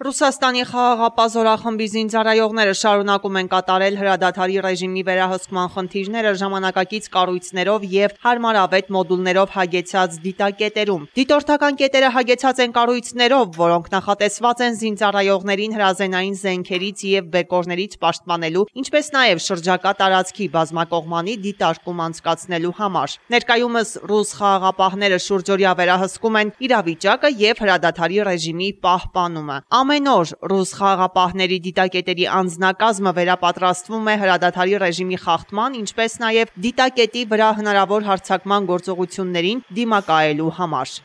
Ռուսաստանի խաղաղապահ զորախմբի զինծառայողները շարունակում են կատարել հրադադարի ռեժիմի վերահսկման խնդիրները ժամանակակից կառույցներով և հարմարավետ մոդուլներով հագեցած դիտակետերում։ Դիտորդական կետերը հագեցած են կառույցներով, որոնք նախատեսված են զինծառայողներին հրազենային զենքերից և բեկորներից պաշտպանելու, ինչպես նաև շրջակա տարածքի բազմակողմանի դիտարկում անցկացնելու համար։ Ներկայումս ռուս խաղաղապահները շուրջօրյա վերահսկում են իրավիճակը և հրադադարի ռեժիմի պահպանումը։ Ամեն օր ռուս խաղաղապահների դիտակետերի անձնակազմը վերապատրաստվում է հրադադարի ռեժիմի խախտման, ինչպես նաև դիտակետի վրա հնարավոր հարձակման գործողություններին դիմակայելու համար։